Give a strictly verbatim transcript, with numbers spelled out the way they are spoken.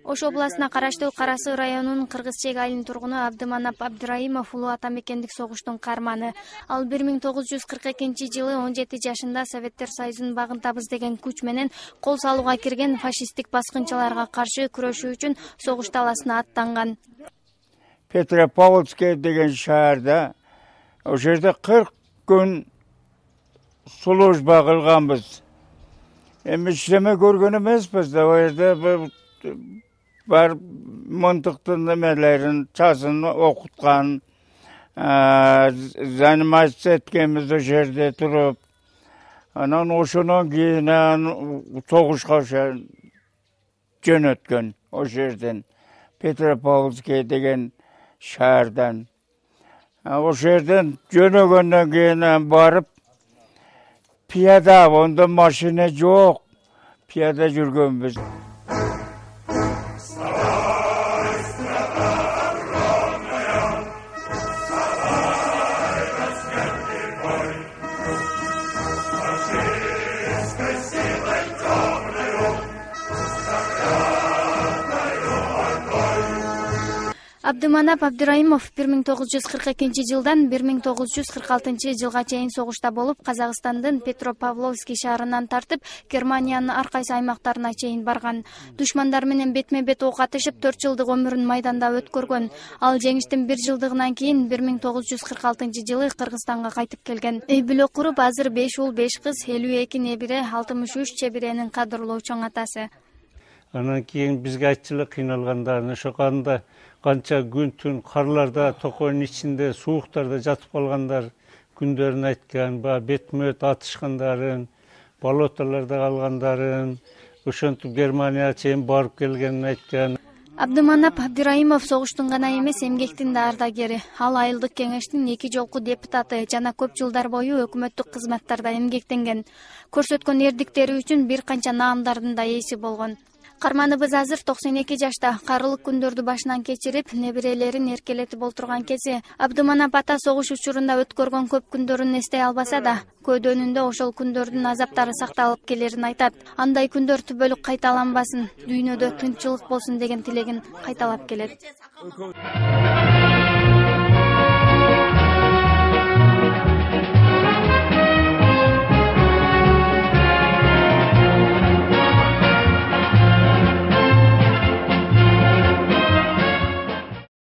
Ош областына караштуу Кара Сый районунун Кыргыз Чек айылынын тургуну Абдыманап Абдыраимов улуу атамекендик согуштун каарманы. Ал бир миң тогуз жүз кырк экинчи жылы он жети жашында Советтер Союзунун багынтабыз деген күч менен кол салууга кирген фашисттик баскынчыларга каршы күрөшүү үчүн согуш таласына аттанган. Петропавловский деген шаарда ошол жерде кырк күн служба кылганбыз. Эми иштеме көргөн эмеспиз да, ал жерде бар мынтыктын немелерин, чазын окуткан, заниматься эткенбиз ошол жерде туруп. Анан ошондон кийин согушка жөнөткөн ошол жерден, Петропавловский деген шаардан. Ошол жерден жөнөгөндөн кийин барып пияда, онда машина жок, пияда жүргөнбүз. Абдыманап Абдыраимов бир миң тогуз жүз кырк экинчи жылдан бир миң тогуз жүз кырк алтынчы жылга чейин согушта болуп, Казакстандын Петропавловский шаарынан тартып, Германиянын ар кайсы аймактарына чейин барган. Душмандар менен бетме-бет ок атышып, төрт жылдык өмүрүн майданда өткөргөн. Ал жеңиштин бир жылдыгынан кийин бир миң тогуз жүз кырк алтынчы жылы Кыргызстанга кайтып келген. Үй бүлө куруп, азыр беш уул, беш кыз, элүү эки небере, алтымыш үч чебиренин кадырлуу чоң атасы. Анан кийин бизге айтчу эле кыйналгандарын, ошо кандай канча күн түн карларда, токойдун ичинде, сууктарда жатып калгандар күндөрүн айткан, баягы бетме-бет атышкандарын, болотолордо калгандарын, ошентип Германияга чейин барып келгенин айткан. Абдыманап Абдыраимов согуштун гана эмес, эмгектин да ардагери. Ал айылдык кеңештин эки жолку депутаты жана көп жылдар бою өкмөттүк кызматтарда эмгектенген. Көрсөткөн эрдиктери үчүн бир канча наамдардын да ээси болгон. Карманыбыз азыр токсон эки жашта, карылык күндөрдү башынан кечирип, неберелерин эркелетип олтурган кези. Абдыманап ата согуш учурунда өткөргөн көп күндөрүн эстей албаса да, көйдөнүндө ошол күндөрдүн азаптары сакталып келерин айтат. Андай күндөр түбөлүк кайталанбасын, дүйнөдө тынччылык болсун деген тилегин кайталап келет.